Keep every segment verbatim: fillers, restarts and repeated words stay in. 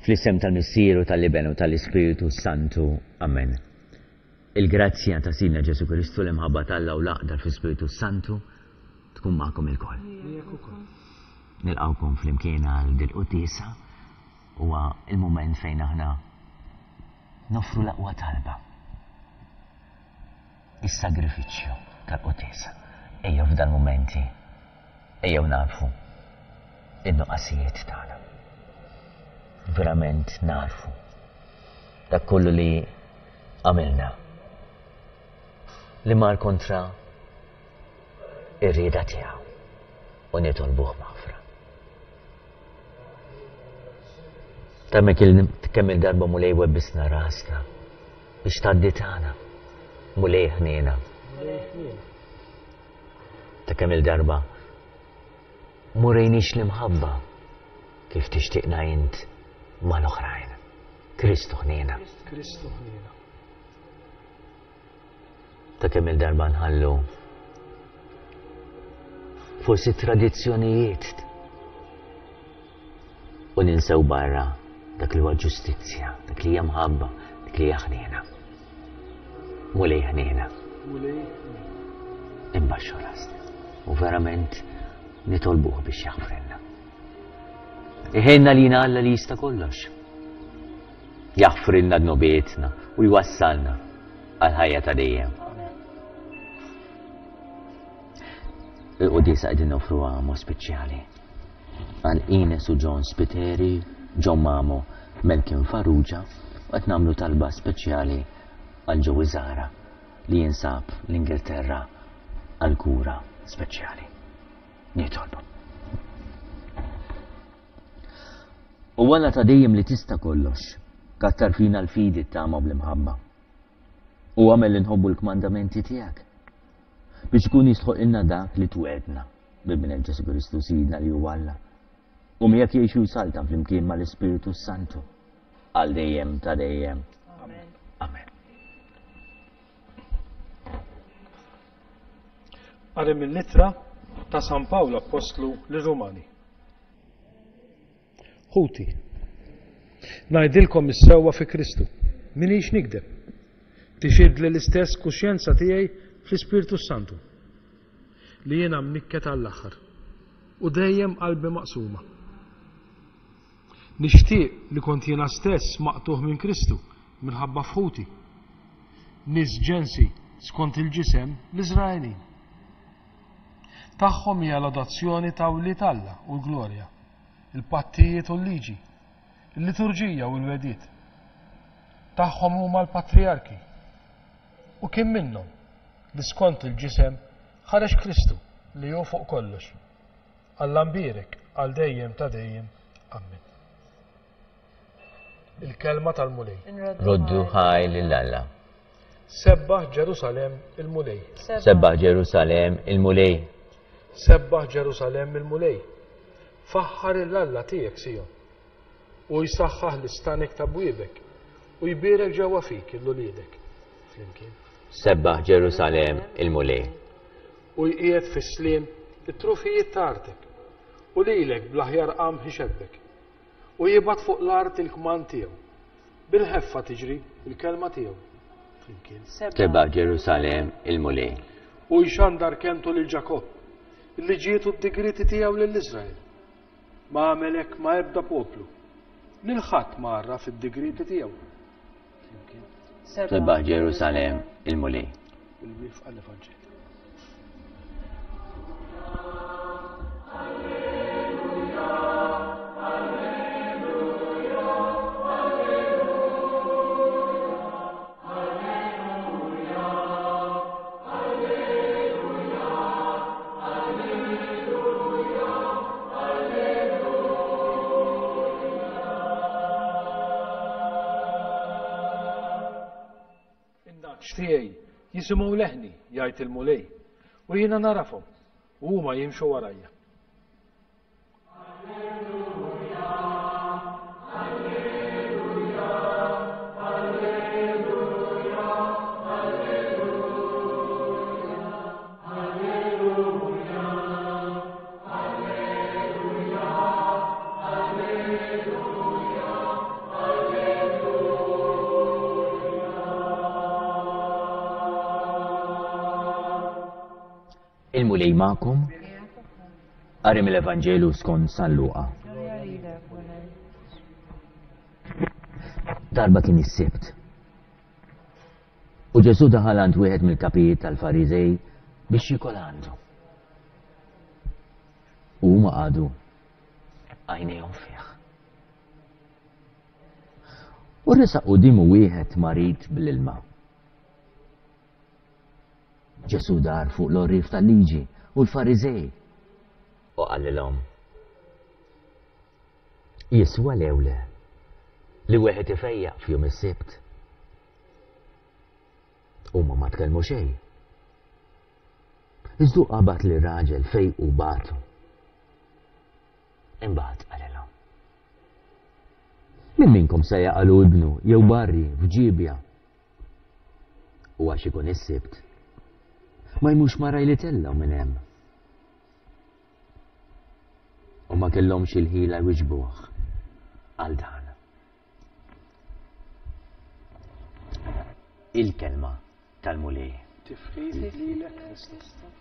Fl-isem tal-Missier u tal-Iben u tal-Ispirtu Santu. Amen. Il-grazzja ta' Sidna Ġesu Kristu, l-imħabba t'Alla u l-għaqda fl-Ispirtu Santu tkun magħkom ilkoll. Nilqgħukom flimkien għal dil-quddiesa. Huwa il-mument fejn aħna nofru l-aqwa talba. Is-sagrifiċċju tal-quddiesa. Ejjew f'dal-mumenti, ejjew nafu in-nuqqasijiet tagħna. Verament narfu dak kollu li għamilna li mar kontra ir-rieda tiegħu u nitolbuh maħfra. Ta' kemm il-darba Mulej webbisna rasna biex tgħaddi tagħna. Mulej ħniena. Ta' kemm il-darba m'urejniex l-imħabba kif tixtieqna int mal-oħrajn. Kristu ħniena. Kristu ħniena. Ta' kemm il-darba nħallu forsi tradizzjonijiet u ninsew barra dak li huwa ġustizzja, dak li hija mħabba, dak li hija ħniena. Mulej ħniena. Mulej ħniena. Imbaxxu rasna u verament nitolbuh biex jaħfrilna. Iħenna lina Alla li jista' kollox. Jaħfrilna dnubietna u jwassalna għal ħajja ta' dejjem. Il-quddiesa qegħdin noffruha mod speċjali għal Ines u John Spiteri, John Mamo, Melkin Farrugia u qed nagħmlu talba speċjali għal Joey Zara li jinsab l-Ingilterra għal kura speċjali. Nitolbu. U Alla ta' dejjem li tista' kollox, kattar fina l-fidi t-tama bl-imħabba. U għamel li nħobbu l-kmandamenti tiegħek biex ikun jistħoqilna dak li twedna b'Ibnek Ġesu Kristu Sidna li huwa Alla. U miegħek jgħix u jsaltan flimkien mal-Ispirtu Santu għal dejjem ta' dejjem. Amen. Amen. Qari mill-ittra ta' San Pawl Appostlu lir-Rumani. Ħuti, ngħidilkom is-sewwa fi Kristu, m'iniex nikdeb. Tixhidli l-istess kuxjenza tiegħi fl-Ispirtu Santu li jiena mnikket għall-aħħar u dejjem qalbi maqsuma. Nixtieq li kont jiena stess maqtugħ minn Kristu minħabba f'ħuti, nies ġensi skont il-ġisem l-Iżraelin. Tagħhom hija l-adozzjoni ta' wlied Alla u l-glorja, il-pattijiet u l-liġi, il-liturġija u l-wegħdiet. Tagħhom huma l-patrijarki. U kien minnhom li skont il-ġisem ħareġ Kristu li hu fuq kollox. Alla mbierek għal dejjem ta' dejjem. Amen. Il-kelma tal-Mulej. Roddu ħaj lil Alla. Sebbaħ Ġerusalemm il-Mulej. Sebbaħ Ġerusalemm il-Mulej. Sebbaħ Ġerusalemm il-Mulej. Faħħar il-Alla tiegħek Sijon. U jsaħħaħ l-istanek ta' bwiebek u jbierek ġewwa fik il-uliedek. Flimkien. Sebbaħ Ġerusalemm il-Mulej. U jqiegħed fis-sliem it-trufijiet ta' artek u lilek bl-aħjar qamħ ixebbek. U jibgħat fuq l-art il-kmand tiegħu. Bil-ħeffa tiġri il-kelma tiegħu. Flimkien. Sebbaħ Ġerusalemm il-Mulej. U jxandar kelmtu lil Ġakobb, il-liġijiet u d-digrieti tiegħu lil Iżrael. Ma għamel hekk ma' ebda poplu. Lil ħadd ma għarraf id-digrieti tiegħu. Flimkien. Sebbaħ Ġerusalemm il-Mulej. Il-wifqa l-Evanġelju. In-nagħaġ tiegħi jisimgħu leħni, jgħid il-Mulej, u jiena narafhom, u huma jimxu warajja. Il-Mulej magħkom. Qari mill-Evanġelju skont San Luqa. Darba kien is-Sibt. U Ġesù daħal għand wieħed mill-kapijiet tal-Fariżej biex jiekol għandu. U huma qagħdu għajnejhom fih. U resaq quddiemu wieħed marid bl-ilma. Ġesù dar fuq l-għorrief tal-liġi u l-Fariżej u qalilhom, Jiswa lew le li wieħed ifejjaq f'jum is-Sibt? Huma ma tkellmu xejn. Iżda hu qabad lir-raġel fejqu u bagħtu. Imbagħad qalilhom, Min minnkom se jaqalu ibnu jew barri f'ġiebja u għax ikun is-Sibt, ma jmurx mara jlitellgħu minn hemm? U ma kellhomx il-ħila jwiġbuh għal dan. Il-kelma tal-Mulej. Tifħir lilek Kristu.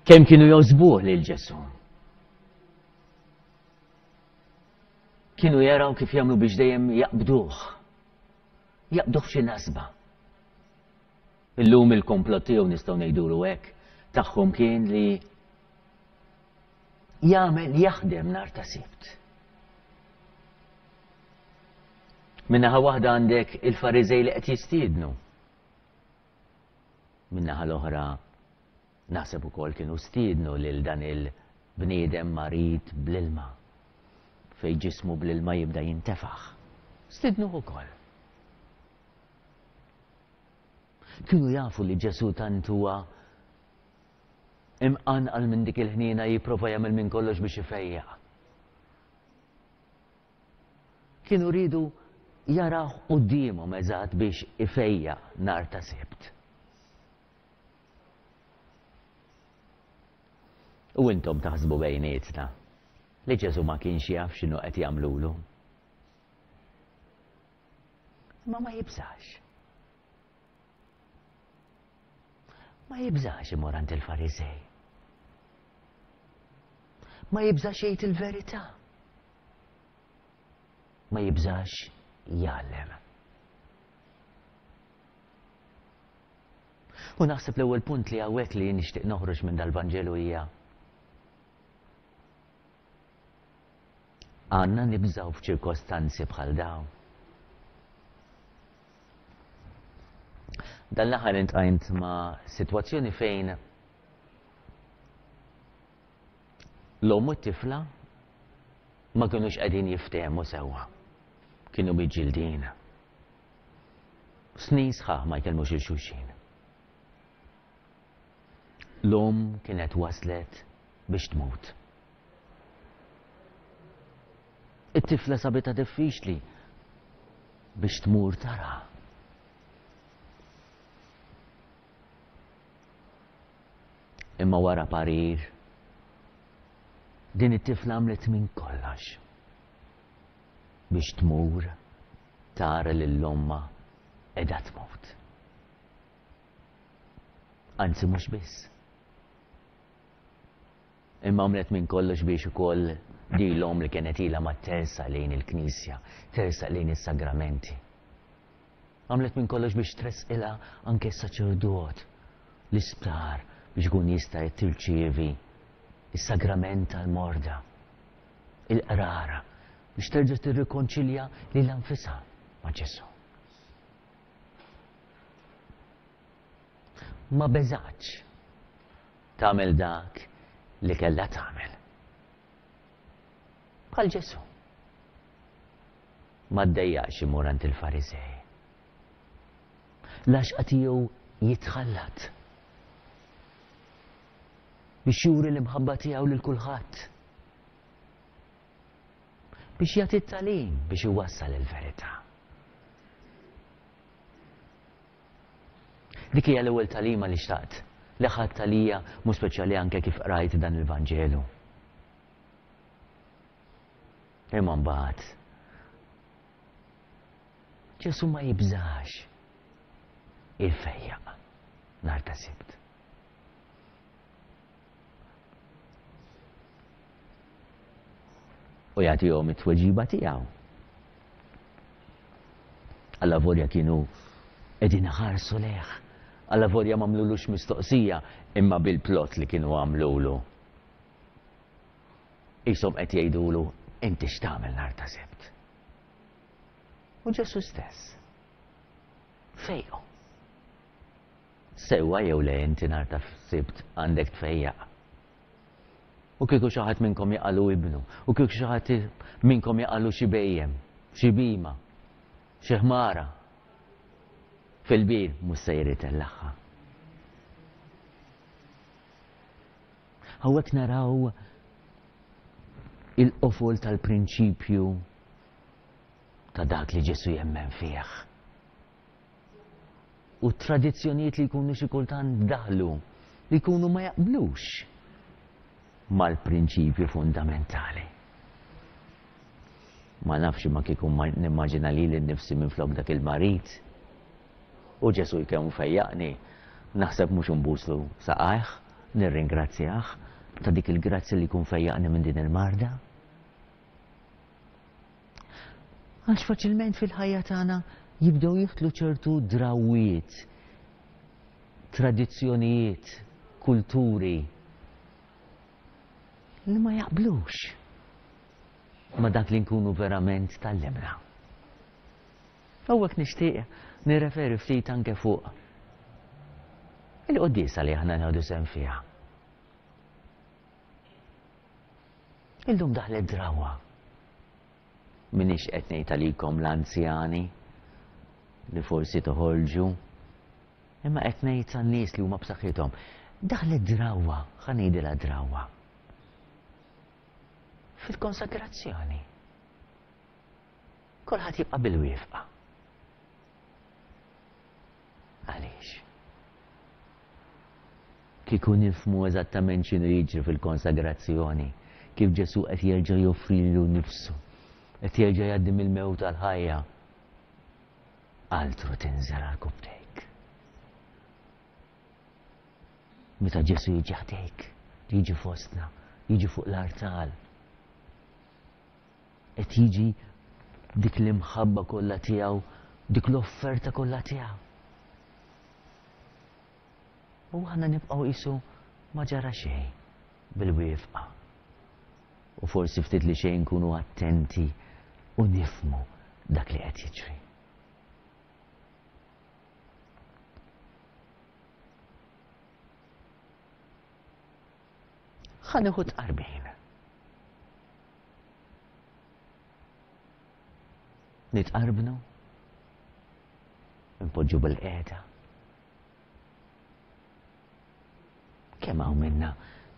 Kemm kienu jogħġbuh lil Ġesù. Kienu jaraw kif jagħmlu biex dejjem jaqbduh. Jaqbduh f'xi nasba. Illum il-komplott tiegħu nistgħu ngħidulu hekk tagħhom kien li jagħmel jaħdem nhar ta' Sibt. Min-naħa waħda għandek il-Fariżej li qed jistiednu. Min-naħa l-oħra naħseb ukoll kienu stiednu lil dan il-bniedem marid bl-ilma fejn ġismu bl-ilma jibda jintefaħ. Stiednuh ukoll. Kienu jafu li Ġesù tant huwa imqanqal minn dik il-ħniena jipprova jagħmel minn kollox biex ifejjaq. Kienu riedu jarawh quddiemhom eżatt biex ifejjaq nhar ta' Sibt. U intom taħsbu bejnietna li Ġesù ma kienx jaf x'inhu qed jagħmlulu. Imma ma jibżax. Ma jibżax imur għand il-Fariżej. Ma jibżax jgħid il-verità. Ma jibżax jgħallem. U naħseb l-ewwel punt li hawnhekk li nixtieq noħroġ minn dal-Vanġelu hija għandna nibżgħu f'ċirkostanzi bħal dawn. Dan l-aħħar intqajnt ma' sitwazzjoni fejn l-omm u t-tifla ma kinux qegħdin jiftehmu sewwa. Kienu miġġildin. Snin sħaħ ma jkellmux il xulxin. L-omm kienet waslet biex tmut. It-tifla sabitha diffiċli biex tmur tara. Imma wara parir, din it-tifla għamlet minn kollox biex tmur tara lil ommha qiegħda tmut. Anzi mhux biss. Imma għamlet minn kollox biex ukoll din l-omm li kienet ilha ma tersaq lejn il-Knisja, tersaq lejn is-sagramenti. Għamlet minn kollox biex tressqilha anke s-saċerdot, l-isptar biex ikun jista' tirċievi is-sagrament tal-morda, il-qrara, biex terġa' tirrikonċilja lilha nfisha ma' Ġesù. Ma beżgħatx tagħmel dak li kellha tagħmel. Bħal Ġesù. Ma ddejjaqx imur għand il-Farisej. L-għaxqa tiegħu jitħallat biex juri l-imħabba tiegħu lil kulħadd. Biex jagħti t-tagħlim biex iwassal il-verità. Dik hija l-ewwel tagħlima li xtaqt li ħadt għalija mhux speċjali anke kif qrajt dan il-Vanġelu. Imma mbagħad Ġesù ma jibżax il-fejjaq nhar ta' Sibt. U jagħtihom it-tweġiba tiegħu. Alla volja kienu qegħdin iħarsu lejh. Alla volja m'għamlulux mistoqsija imma bil-plot li kienu għamlulu. Qishom qed jgħidulu inti x'tagħmel nhar ta' Sibt. U Ġesù stess fejqu. Sewwa jew le inti nhar ta' Sibt għandek tfejjaq. U kieku xi ħadd minnkom jaqalu ibnu, u kieku xi ħadd minnkom jaqalu xi bejjem, xi bima, xi ħmara. Fil-bir mhux se jritellaħħa. Hawnhekk naraw il-qofol tal-prinċipju ta' dak li Ġesù jemmen fih. U tradizzjonijiet li jkunu xi kultant daħlu, li jkunu ma jaqblux mal-prinċipju fundamentali. Ma nafx ma kieku nimmaġina lili nnifsi minflok dak il-marid. U Ġesù jkemm fejjaqni, naħseb mhux nbuslu saqajh, nirringrazzjah ta' dik il-grazzja li jkun fejjaqni minn din il-marda. Għax faċilment fil-ħajja tagħna jibdew jidħlu ċertu drawiet, tradizzjonijiet, kulturi li ma jaqblux ma dak li nkunu verament tallimna. Hawnhekk nixtieq nirreferi ftit anke fuq il-quddiesa li aħna nieħdu sehem fiha. Illum daħlet drawa. Minix qed ngħid għalikom l-anzjani li forsi toħorġu, imma qed ngħid għan-nies li huma b'saħħithom. Daħlet drawa, ħa ngħidilha drawa. Fil-konsagrazzjoni. Kulħadd jibqa' bil-wifqa. Għaliex? Kieku nifhmu eżattament x'inhu jiġri fil-konsagrazzjoni, kif Ġesù qed jerġa' joffri lilu nnifsu, qed jerġa' jgħaddi mill-mewt għall-ħajja. Altru tinżel għal kubtejk. Meta Ġesù jiġi ħdejk, jiġi fostna, jiġi fuq l-artal, qed jiġi dik l-imħabba kollha tiegħu, dik l-offerta kollha tiegħu. U aħna nibqgħu qisu ma ġara xejn bil-wifqa. U forsi ftit li xejn nkunu attenti u nifhmu dak li qed jiġri. Ħa nieħu tqarbin. Nitqarbnu, npoġġu bil-qiegħda. Kemm hawn minna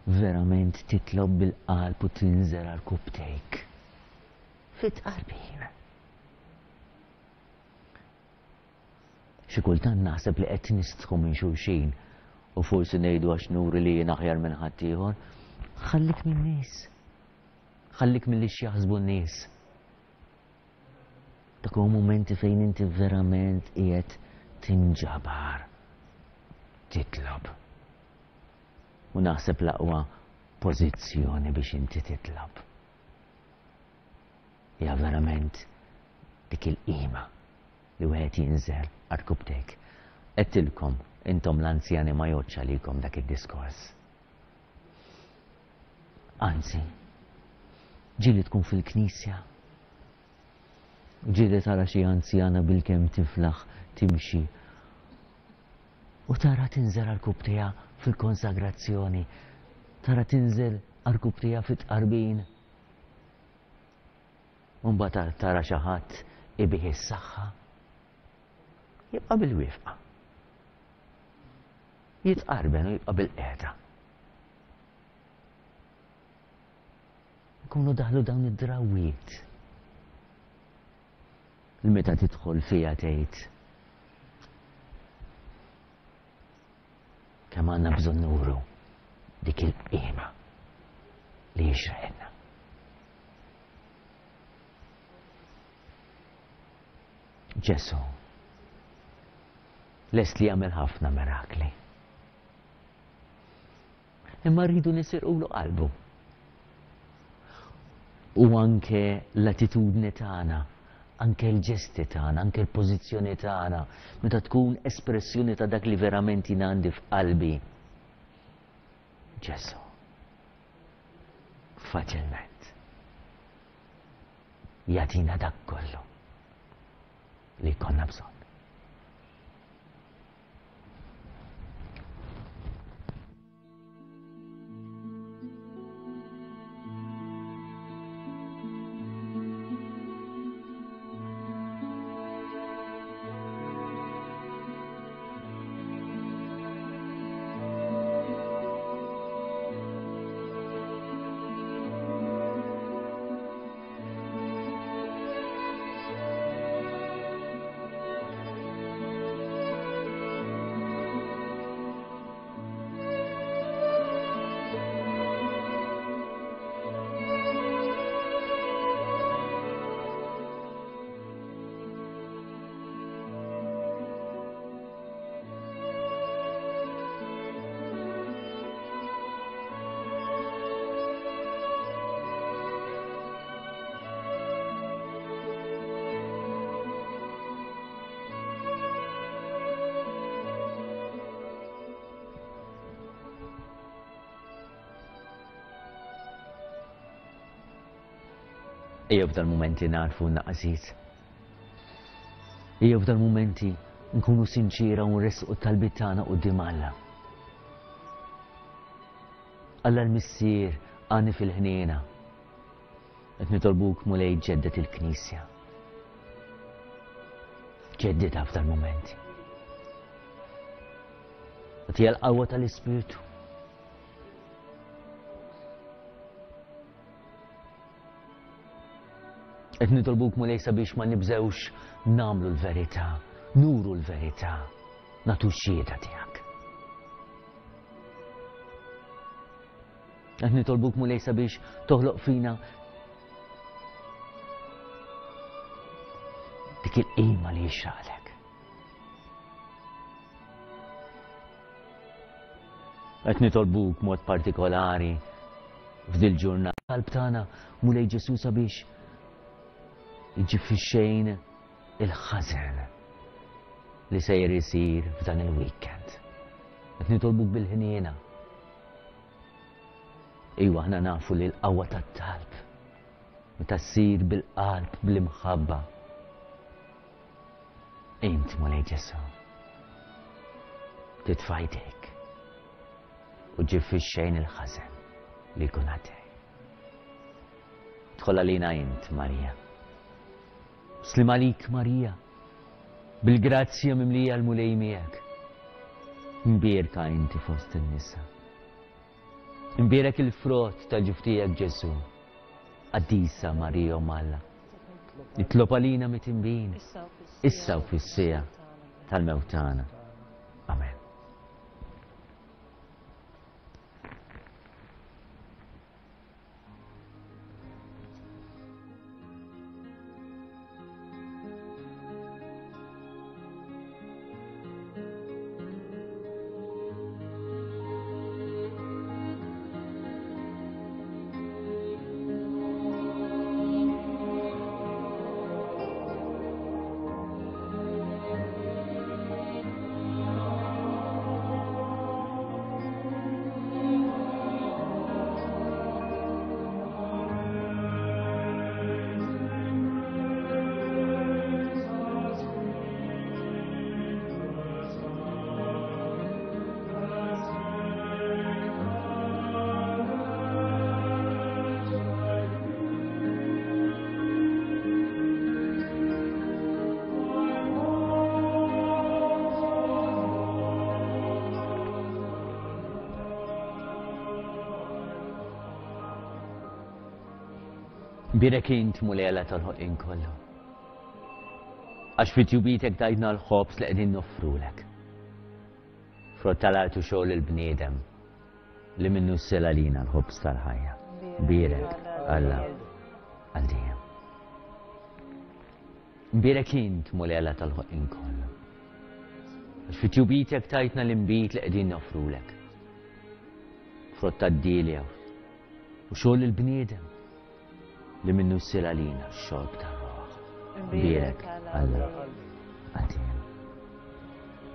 verament titlob bil-qalb u tinżel għal kubtejk Fit-tqarbin. Xi kultant naħseb li qed nistħu minn xulxin u forsi ngħidu għax nuri li jien aħjar minn ħaddieħor. Ħallik min-nies. Ħallik milli x'jaħsbu n-nies. Dak huwa mumenti fejn inti verament qiegħed tinġabar. Titlob. U naħseb l-aqwa pożizzjoni biex inti titlob. Hija verament dik il-qima li wieħed jinżel għarkupptejk. Għedtilkom, intom l-anzjani ma jgħoddx għalikom dak id-diskors. Anzi, ġieli tkun fil-knisja, ġieli tara xi anzjana bil-kemm tiflaħ timxi u tara tinżel għarkupptejha fil-konsagrazzjoni, tara tinżel għarkupptejha fit-tqarbin. U mbagħad tara xi ħadd ibih is-saħħa, jibqa' bil-wifqa. Jitqarben u jibqa' bil-qiegħda. Ikunu daħlu dawn id-drawwiet. Li meta tidħol fiha tgħid kemm għandna bżonn nuru dik il-qima li jixraqilna. Ġesù lest li jagħmel ħafna mirakli. Imma rridu nisirqulu qalbu. U anke l-attitudni tagħna, anke l-ġesti tagħna, anke l-pożizzjoni tagħna, meta tkun espressjoni ta' dak li verament jien għandi f'qalbi. Ġesù faċilment jagħtina dak kollu li jkollna bżonn. Ejjew f'dal-mumenti narfu n-naqasiet. Ejjew f'dal-mumenti nkunu sinċira u nressqu t-talbiet tagħna quddiem Alla. Alla l-Missier għani fil-ħniena. Qed nitolbuk Mulej ġeddet il-Knisja. Ġedditha f'dal-mumenti. Agħtiha l-qawwa tal-Ispirtu. Qed nitolbuk Mulej sabiex ma nibżewx nagħmlu l-verità, nuru l-verità, nagħtu x-xhieda tiegħek. Qed nitolbuk Mulej sabiex toħloq fina dik il-qima li jixraqlek. Qed nitolbuk mod partikolari f'dil ġurnata qalb tagħna Mulej Ġesù sabiex iġib fix-xejn il-ħażen li sejjer isir f'dan il-weekend. Qed nitolbuk bil-ħniena. Iwa aħna nafu li l-qawwa tat-talb meta ssir bil-qalb bl-imħabba. Int Mulej Ġesù titfa' jdejk u ġib fix-xejn il-ħażen li jkun għaddej. Dħol għalina int, Marija. Slim għalik, Marija, bil-grazzja mimlija l-Mulej miegħek. Mbierka inti fost in-nisa. Imbierek il-frott ta' ġuf tiegħek Ġesù. Qaddisa Marija Omm Alla, Itlob għalina mitinbin, issa u fis-siegħa tal-mewt tagħna. Amen. Birek int Mulej Alla tal-ħolqien kollu. Għax fi tjubitek tajtna l-ħobż li qegħdin noffrulek. Frott tal-art u xogħol il-bniedem li minnu ssel għalina l-ħobż tal-ħajja. Birek Alla għal dejjem. Birek int Mulej Alla tal-ħolqien kollu. Għax fi tjubitek tajtna l-inbid li qegħdin noffrulek. Frott tad-dielja u xogħol il-bniedem li minnu ssir għalina x-xorb tar-ruħ. Birek Alla għal dejjem.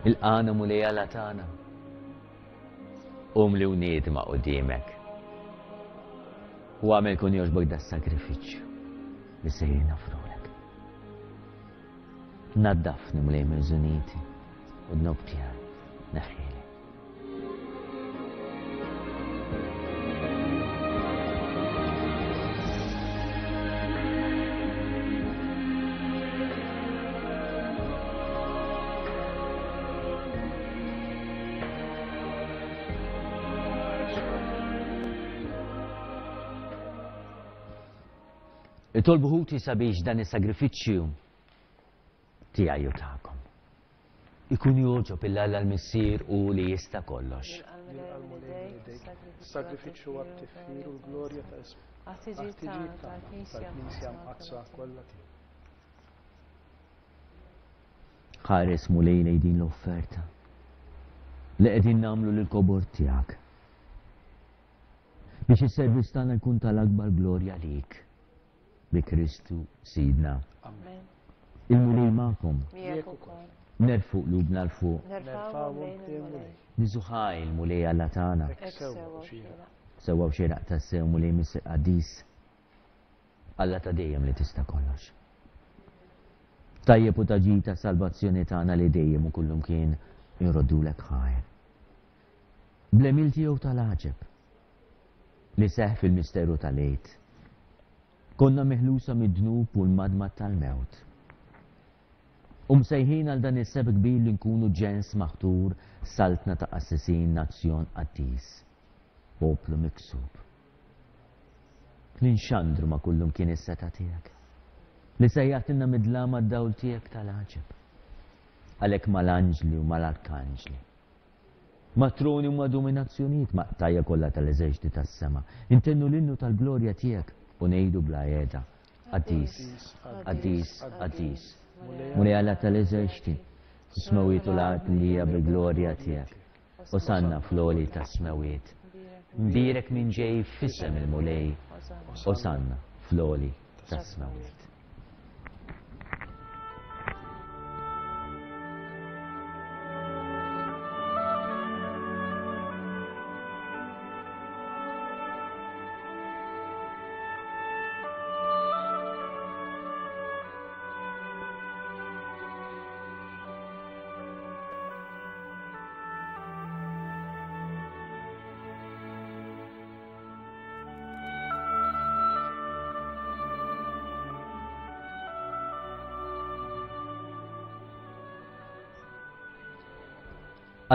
Il-qana Mulej Alla tagħna, umli u niedma quddiemek. U għamel kun jogħġbok das-sagrifiċċju li sejrin nofrulek. Naddafni Mulej minn żuniti u dnub tiegħi neħħieli. Itolbu ħuti sabiex dan is-sagrifiċċju tiegħi u tagħkom ikun jogħġob il Alla l-Missier u li jista' kollox. Sagrifiċċju għat-tifħir u l-glorja ta' ismu. Għat-tiġid tal-Knisja mqaddsa kollha tiegħu. Ħares Mulej lejn din l-offerta li qegħdin nagħmlu lill-kobor tiegħek biex is-servizz tagħna jkun tal-akbar glorja lik. Bi Kristu Sidna. Amen. Il-Mulej magħkom. Miegħek ukoll. Nerfu qlubna 'l fuq. Nerfgħuhom il-Mulej. Niżuħaj il-Mulej Alla tagħna. Sewwa u xieraq. Sewwa u xieraq tassew Mulej Missier qaddis. Alla ta' dejjem li tista' kollox. Tajjeb u ta' ġid ta' salvazzjoni tagħna li dejjem u kullumkien inroddulek ħajr. Bl-għemil tiegħu tal-għaġeb li seħħ fil-misteru tal-Għid. Konna meħlusa mid-dnub u l-madmad tal-mewt. U msejħin għal dan is-seb kbir li nkunu ġens maħtur, saltna ta' qassisin, nazzjon qaddis, poplu miksub. Li nxandru ma' kullum kien is-seta' tiegħek. Li sejjaħtilna mid-dlam għad-dawl tiegħek tal-għaġeb. Għalhekk mal-anġli u mal-arkanġli, ma' troni u ma' dominazzjonijiet, ma' qtajja kollha tal-eżerċti tas-sema, intennu l-innu tal-glorja tiegħek u ngħidu bla qiegħda: Qaddis, qaddis, qaddis, Mulej Alla tal-eżerċti, is-smewiet u l-art mlija bil-glorja tiegħek. Osanna fl-għoli tas-smewiet. Mbierek min ġej f'isem il-Mulej. Osanna fl-għoli tas-smewiet.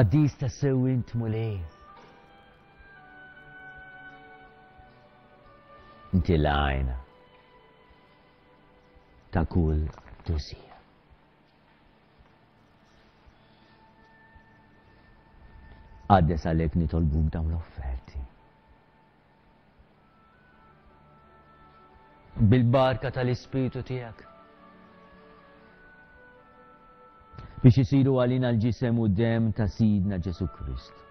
Qaddis tassew int Mulej. Inti l-għajna. ta' kull qdusija. Qaddes għalhekk nitolbuk dawn l-offerti. Bil-barka tal-Ispirtu tiegħek. Biex isiru għalina l-ġisem u d-demm ta' Sidna Ġesù Kristu.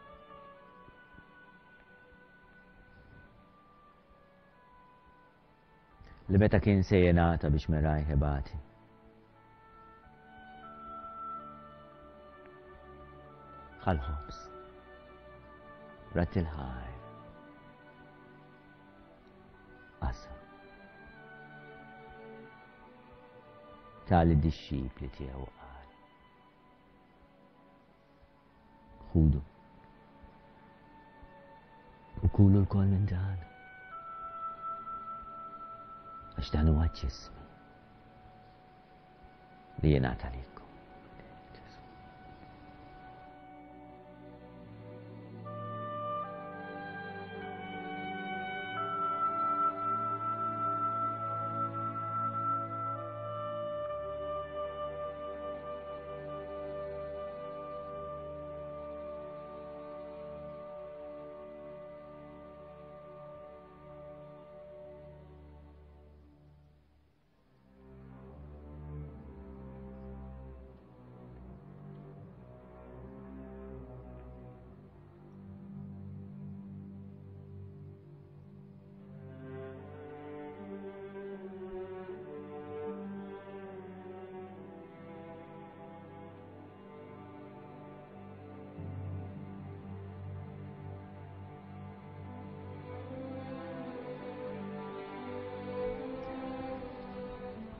Li meta kien se jingħata biex merajh ibati. Ħa l-ħobż. Radd il-ħajr. Qasam. Ta lid-dixxipli tiegħu qal. Ħudu. U kulu lkoll minn dan. Għax dan huwa ġismi li jingħata lilkom.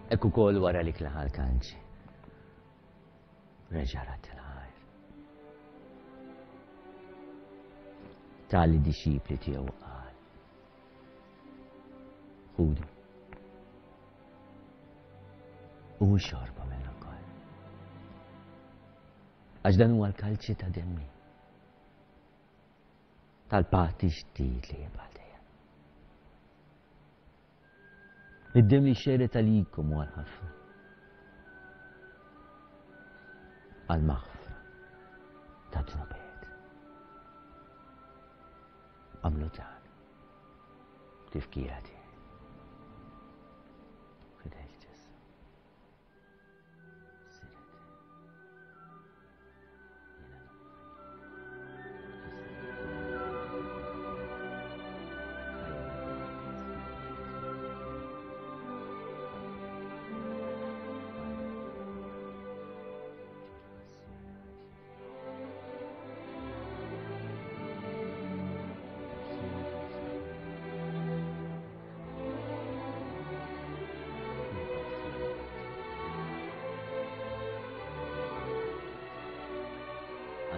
Hekk ukoll wara li klaħa l-kalċi. Reġa' radd il-ħajr. Ta lid-dixxipli tiegħu qal. Ħudu. U xorbu minnu wkoll. Għax dan huwa l-kalċi ta' demmi. Tal-patt ġdid li jibqa' dejjem. Id-demm li xerred għalikom u għal ħafna. Għal maħfra ta' dnubiet. Għamlu dan. Tifkira tiegħi. Fidejk Ġesù. Siret.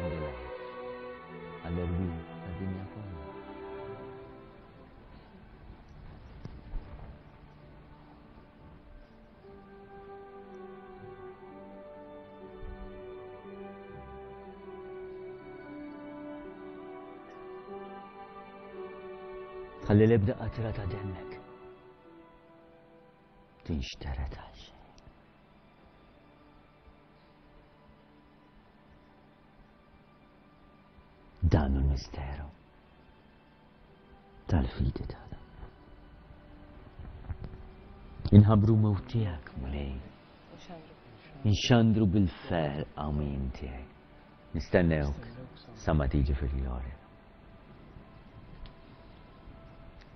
Jiena noffri. Għall-erwieħ tad-dinja kollha. Ħalli l-ebda qatra ta' demmek tinxtered għal xejn. Dan hu l-misteru tal-fidi tagħna. Inħabbru mewt tiegħek, Mulej. Inxandru bil-ferħ qawmien tiegħek. Nistennewk sa ma tiġi fil-glorja.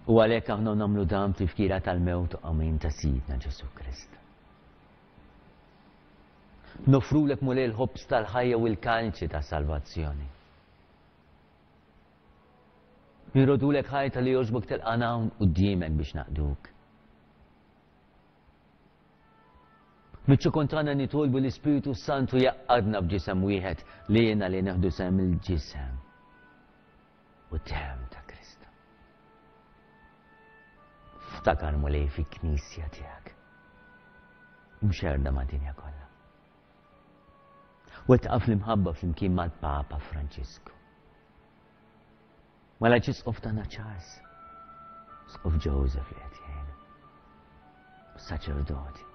U għalhekk aħna nagħmlu dan tifkira tal-mewt u qawmien ta' Sidna Ġesù Kristu. Nofrulek Mulej l-ħobż tal-ħajja u l-kalċi ta' salvazzjoni. Nirrodulek ħajta li jogħġbok tilqana hawn quddiemek biex naqduk. Miċ-ċokon tagħna nitolbu l-Ispirtu Santu jgħaqqadna b'ġisem wieħed li jiena li neħdu sehem il-ġisem u demm ta' Kristu. Ftakar Mulej fi-Knisja tiegħek. Imxerda mad-dinja kollha. Wettqa fl-imħabba flimkien mal-Papa Franġisku. Mal-Arċisqof tagħna Charles, Sqof Joseph li qed jgħinu, saċerdoti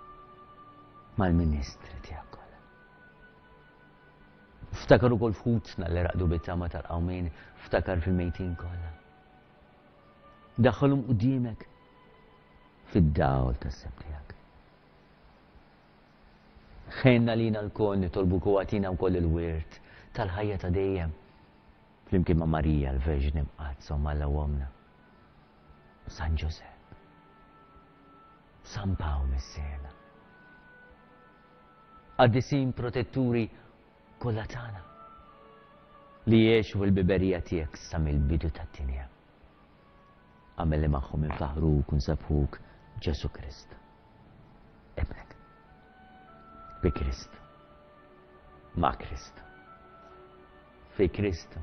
Mal-ministri tiegħek kollha. Ftakar ukoll f'ħutna li raqdu bit-tama tal-qawmien, ftakar fil-mejtin kollha. Daħħalhom quddiemek fid-dawl tas-seb tiegħek. Ħenna lina lkoll nitolbuk u agħtina wkoll il-wirt tal-ħajja ta' dejjem. Flimkien ma' Marija l-Verġni Mqaddsa u Alla Ommna. San Ġużepp, San Pawl Missierna. Qaddisin protetturi kollha tagħna li jgħixu fil-biberija tiegħek sa mill-bidu tad-dinja. Agħmel li magħhom infaħruk u nsebbħuk Ġesu Kristu. Ibnek. Bi Kristu. Ma' Kristu. Fi Kristu.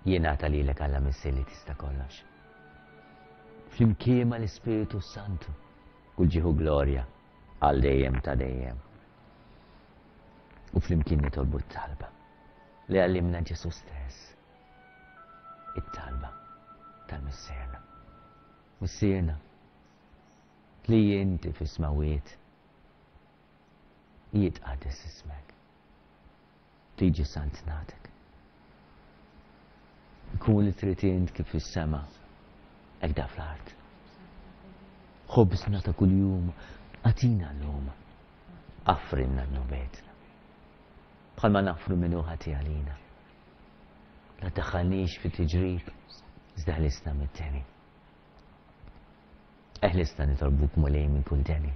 Jingħata lilek Alla Missier li tista' kollox. Flimkien mal-Ispiritu Santu, kull ġieħ u glorja għal dejjem ta' dejjem. U flimkien nitolbu t-talba li għallimna Ġesu stess. It-talba tal-Missierna. Missierna, li inti fis-smawiet, jitqaddes ismek. Tiġi saltnatek. Ikun li trid int kif fis-sema, hekk da fl-art. Ħobżna ta' kuljum, agħtina llum. Aħfrilna dnubietna. Bħalma naħfru min hu ħati għalina. La tdaħħalniex fi tiġrib, iżda ħlisna mid-deni. Eħlisna nitolbuk Mulej minn kull deni.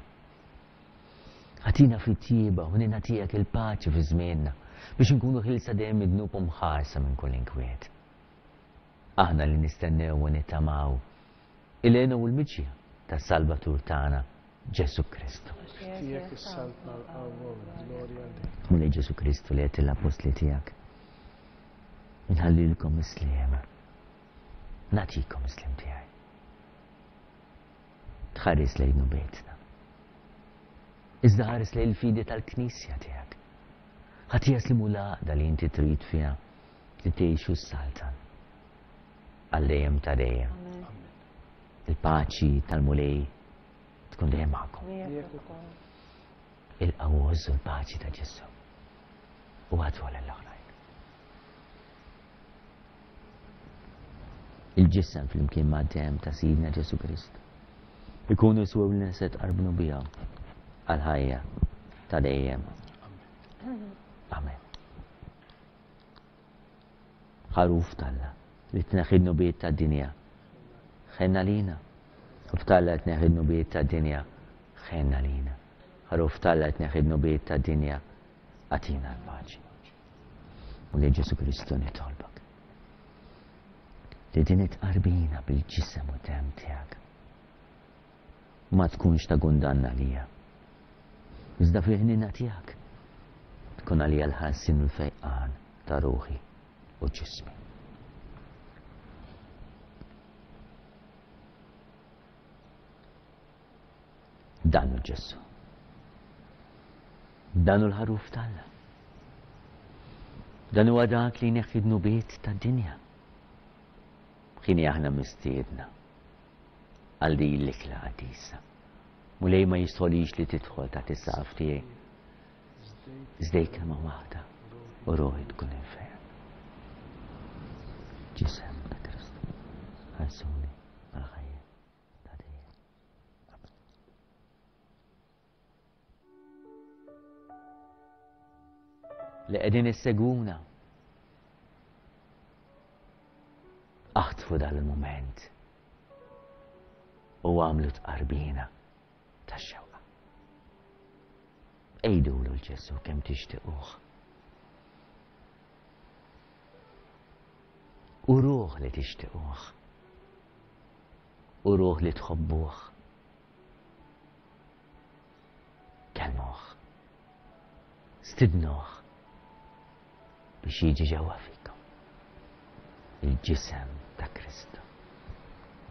Agħtina fit-tjieba u ħniena tiegħek il-paċi fi żmienna biex nkunu ħielsa dejjem mid-dnub u mħarsa minn kull inkwiet. Aħna li nistennew u nittamaw il-hena u l-miġja tas-Salvatur tagħna Ġesu Kristu. Tiegħek is-saltna, l-qawwa u l-glorja għal dejjem. Mulej Ġesu Kristu li għedt lill-appostli tiegħek. Inħallilkom is-sliem. Nagħtikom is-sliem tiegħi. Tħares lejn dnubietna. Iżda ħares lejn il-fidi tal-Knisja tiegħek. Agħtiha s-sliem u l-għaqda li inti trid fiha li tgħix u ssaltan. Għal dejjem ta' dejjem. Il-paċi tal-Mulej tkun dejjem magħkom. Ilqgħu u l-paċi ta' Ġesu. U agħtuha lill-oħrajn. Il-ġisem flimkien mad-demm ta' Sidna Ġesu Kristu. Ikunu jiswew li se tqarbnu bihom għal-ħajja ta' dejjem. Amen. Ħaruf t'Alla li tneħħi d-dnubiet tad-dinja. Ħenna lina. Ħaruf t'Alla li tneħħi d-dnubiet tad-dinja. Ħenna lina. Ħaruf t'Alla li tneħħi d-dnubiet tad-dinja. Agħtina l-paċi. U li Ġesu Kristu nitolbok. Li din it-tqarbina bil-ġisem u demm tiegħek ma tkunx ta' kundanna għalija. Iżda fil-ħniena tiegħek tkun għalija l-ħelsien u l-fejqan ta' ruħi u ġismi. Dan hu Ġesu. Dan hu l-ħaruf t'Alla. Dan huwa dak li jneħħi dnubiet tad-dinja. Ħini aħna mistiedna għal din l-ikla qaddisa. Mulej ma jistħolix li tidħol taħt is-saqaf tiegħi. Iżda kelma waħda u ruħi tkun infejqet. Ġisem ta' Kristu, ħarsuni għal-ħajja ta' dejjem. Li qegħdin issegwuna. Aħtfu dal-mument u għamlu tqarbina tax-xewqa. Għidulu 'l Ġesu kemm tixtiquh. Uruh li tixtiquh. Uruh li tħobbuh. Kellmuh. Stidnuh biex jiġi ġewwa fikom. Il-ġisem ta' Kristu.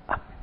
Amen.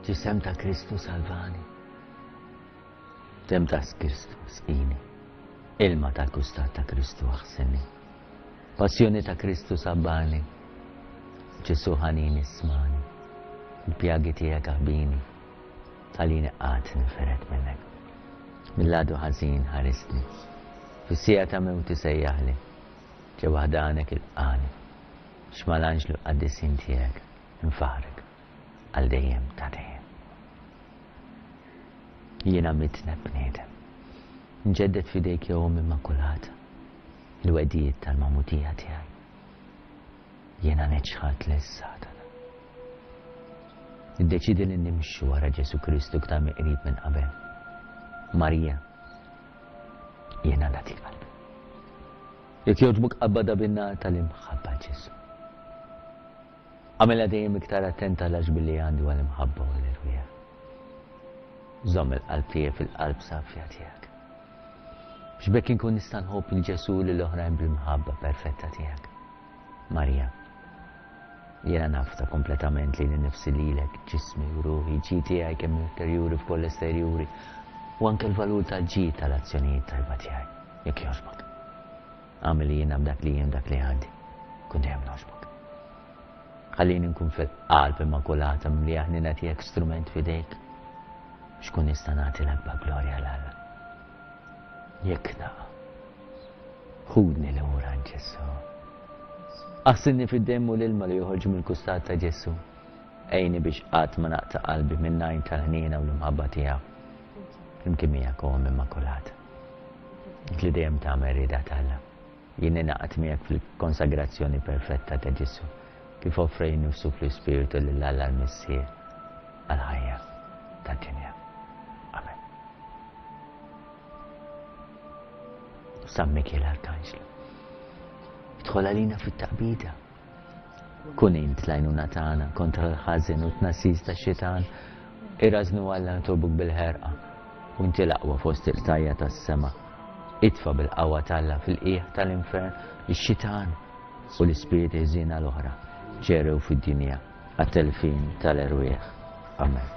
Ġisem ta' Kristu salvani. Demm ta' Kristu sqini. Ilma tal-kustat ta' Kristu aħsilni. Passjoni ta' Kristu sabbarni. Ġesù ħanin ismani. Il-pjagi tiegħek aħbini. Tħallini qatt ninfered minnek. Mill-għadu ħażin ħarisni. Fis-siegħa ta' mewti sejjaħli. Ġewwa ħdanek ilqani. X'mal-anġlu l-qaddisin tiegħek infaħrek għal dejjem ta' dejjem. Jiena mitneb bniedem. Nġeddet f'idejk ja Omm Immakulata il-wegħdiet tal-magħmudija tiegħi. Jiena neċħad lil Satana. Niddeċidi li nimxu wara Ġesù Kristu iktar mill-qrib minn qabel. Marija, jiena nagħtik qalbi. Jekk jogħġbok qabbadha bin-nar tal-imħabba Ġesù. Għamilha dejjem iktar attenta għall-għaxbi li għandi għall-imħabba u għall-irwieħ. Żomm il-qalb tiegħi fil-qalb safja tiegħek. Biex b'hekk inkun nista' nħobb lil Ġesù lil oħrajn bl-imħabba perfetta tiegħek. Marija, jiena nafda kompletament lili nnifsi lilek, ġismi u ruħi, ġid tiegħi kemm interjuri f'koll esterjuri, u anke l-valur tal-ġid tal-azzjonijiet tajba tiegħi, jekk jogħġbok. Agħmel li jiena b'dak li jien dak li għandi, kun dejjem nogħġbok. Ħallini nkun fil-qalb immakulata mimlija ħniena tiegħek strument f'idejk biex kun nista' nagħti l-akbar glorja 'l Alla. Jekk naqa', ħudni lura Ġesù. Aħsilni fid-demm u l-ilma li joħorġu mill-kustat ta' Ġesù. Għinni biex qatt ma naqta' qalbi minn għajn tal-ħniena u l-imħabba tiegħu. Flimkien miegħek Omm Immakulata. Int li dejjem tagħmel rieda t'Alla. Jien ningħaqad miegħek fil-konsagrazzjoni perfetta ta' Ġesù kif offra nifsu fl-Ispirtu lil Alla l-Missier għal-ħajja tad-dinja. Amen. San Mikiel Arkanġlu, idħol għalina fit-taqbida. Kun int l-għajnuna tagħna kontra l-ħażin u t-tnassis tax-xitan. Irażnu Alla nitolbuk bil-ħerqa u inti l-aqwa fost il-qtajja tas-sema. Itfa' bil-qawwa t'Alla fil-qiegħ tal-infern ix-xitan u l-ispiriti ħżiena l-oħra ġerew fid-dinja għat-telfin tal-erwieħ. Amen.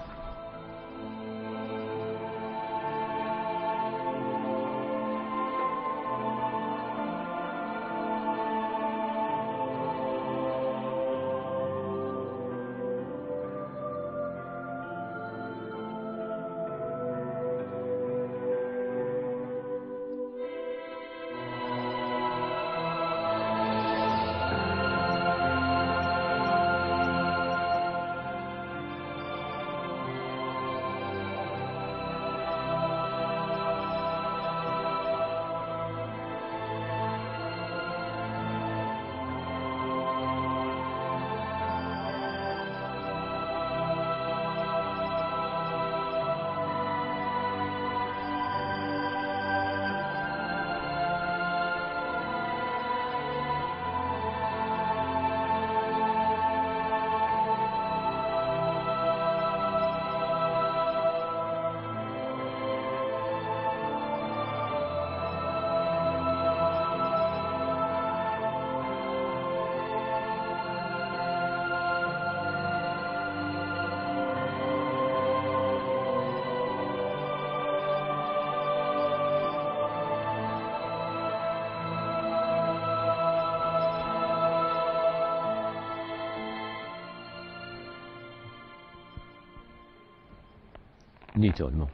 Nitolmu.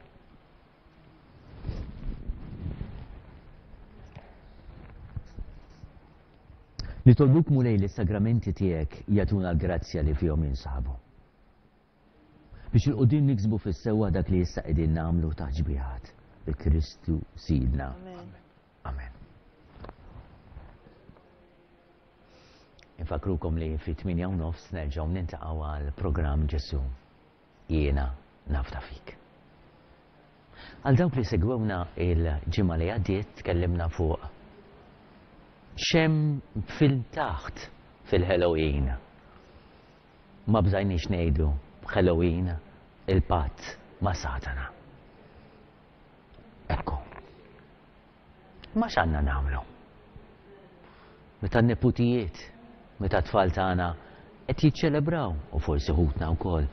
Nitolbuk Mulej li s-sagramenti tiegħek jagħtuna l-grazzja li fihom jinsabu. Biex 'il quddiem niksbu fis-sewwa dak li issa qegħdin nagħmlu ta' ġbiħat bi Kristu Sidna. Amen. Infakrukom li fi tmienja u nofs nerġgħu nintaqgħu għal programm Ġesù. Jiena nafda fik. Għal dawk li segwewna il-ġimgħa li għaddiet tkellimna fuq x'hemm fil-taħt fil-Halloween. Ma bżajniex ngħidu Halloween il-patt ma' Satana. Ekku. Ma x'għandna nagħmlu? Meta n-neputijiet, meta t-tfal tagħna qed jiċċelebraw u forsi ħutna wkoll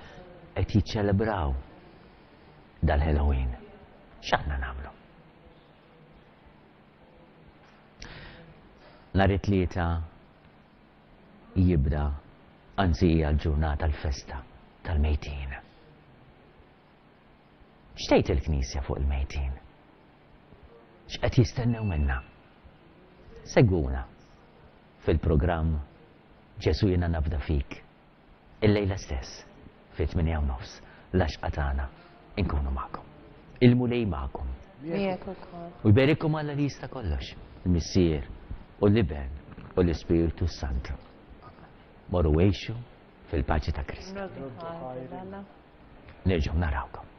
qed jiċċelebraw dal-Halloween. X'aħna nagħmlu? Nhar it-Tlieta jibda, anzi hija l-ġurnata l-festa tal-mejtin. X'tgħid il-Knisja fuq il-mejtin? X'qed jistennew minna? Segwuna fil-programm Ġesu Jiena Nafda Fik illejla stess fit-tmienja u nofs l-għaxqa tagħna inkunu magħkom. Il-Mulej magħkom. Miegħek ukoll. U jberikkom Alla li jista' kollox, il-Missier u l-Iben u l-Ispirtu Santu. Morru għixu fil-paċi ta' Kristu. Nroddu ħajr. Nerġgħu narawkom.